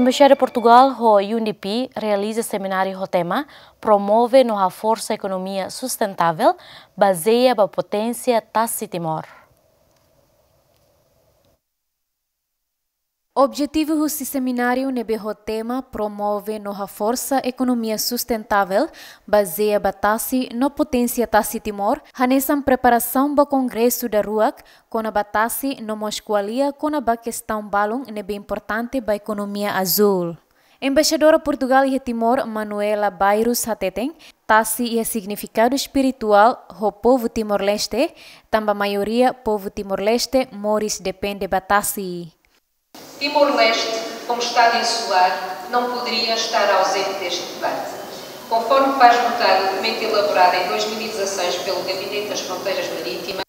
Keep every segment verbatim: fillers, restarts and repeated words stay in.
Embaixada Portugal ho U N D P realiza semináriu ho tema Promove no Haforsa Ekonomia Sustentável, bazeia ba poténsia tasi Timor. Objetivu husi semináriu ne'ebé ho tema Promove no Haforsa Ekonomia Sustentável, bazeia ba tasi no poténsia tasi Timor, hanesan preparasaun ba kongresu daruak kona-ba tasi no mós ko'alia kona-ba kestaun balun ne'ebé importante ba ekonomia azúl. Embaixadora Portugal iha Timor, Manuela Bairros hateten, tasi iha signifikadu espirituál ho povu Timor-Leste, tanba maioria povu Timor-Leste moris depende ba tasi. Timor-Leste, como Estado insular, não poderia estar ausente deste debate. Conforme faz notar o documento elaborado em dois mil e dezasseis pelo Gabinete das Fronteiras Marítimas,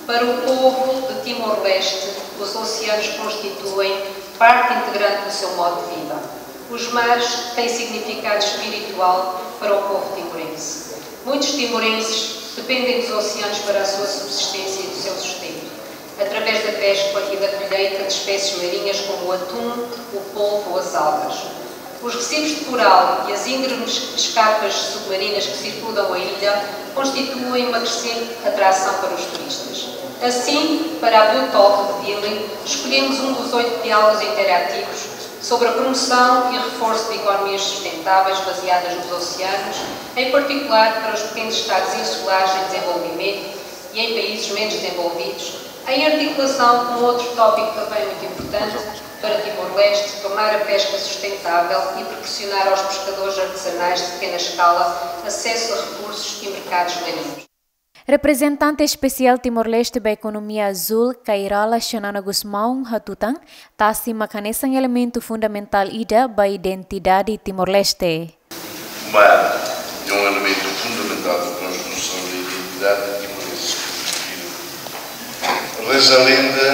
para o povo de Timor-Leste, os oceanos constituem parte integrante do seu modo de vida. Os mares têm significado espiritual para o povo timorense. Muitos timorenses dependem dos oceanos para a sua subsistência e do seu sustento, através da pesca e da colheita de espécies marinhas como o atum, o polvo ou as algas. Os recifes de coral e as íngremes escarpas submarinas que circundam a ilha constituem uma crescente atração para os turistas. Assim, para a Boot Talk de Dili, escolhemos um dos oito diálogos interativos sobre a promoção e reforço de economias sustentáveis baseadas nos oceanos, em particular para os pequenos estados insulares em desenvolvimento e em países menos desenvolvidos, em articulação com outro tópico também muito importante para Timor-Leste, tornar a pesca sustentável e proporcionar aos pescadores artesanais de pequena escala acesso a recursos e mercados marinhos. Reprezentante Espesiál Timor-Leste ba Ekonomia Azúl, Kay Rala Xanana Gusmão, hatutan, tasi mak hanesan elementu fundamentál ida ba identidade Timor-Leste. O mar é um elemento fundamental da construção da identidade timorense. Reza a lenda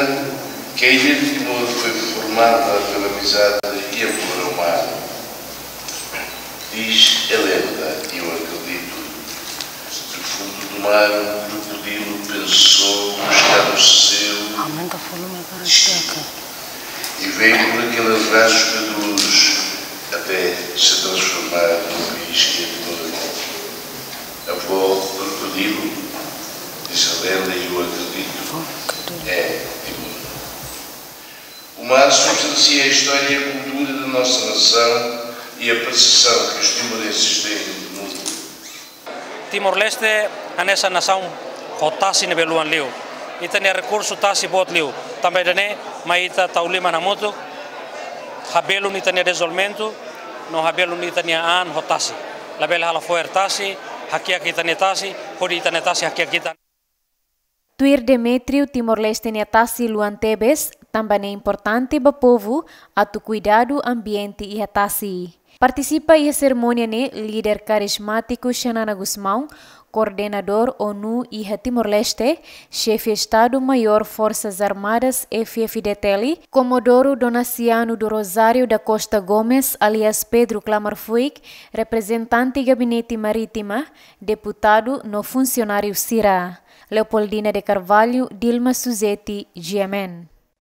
que a ilha de Timor foi formada pela amizade e amor ao mar. Diz a lenda, e eu acredito, do fundo do mar um crocodilo pensou buscar o seu Aumenta o volume agora, destino. Checa. E veio por aquele rasgo de luz até se transformar no país que é Timor. Avó crocodilo, diz a lenda e eu acredito, é Timor. O mar substancia a história e a cultura da nossa nação e a percepção que os timorenses têm do mundo. Timor-Leste hanesan nasaun ho tasi ne'ebé luan liu. Ita-nia rekursu tasi boot liu. Tanba ida-ne'e mai ita tau liman hamutuk, habelun ita-nia dezenvolvimentu, no habelun ita-nia an ho tasi. Labele halo fo'er tasi, hakiak ita-nia tasi, hodi ita-nia tasi hakiak ita. Tuir Demétrio, Timor-Leste nia tasi luan tebes, tanba ne'e importante ba povu atu kuidadu ambiente iha tasi. Partisipa iha serimónia ne'e líder karizmátiku Xanana Gusmão, koordenadór ONU iha Timor-Leste, xefe Estadu-Maiór Forsas Armadas F F D T L, Comodoro Donaciano do Rosário da Costa Gomes, alias Pedro Klamar Fuik, reprezentante Gabinete Marítima, deputadu no funsionáriu sira. Leopoldina de Carvalho, Dilma Suzeti, G M N.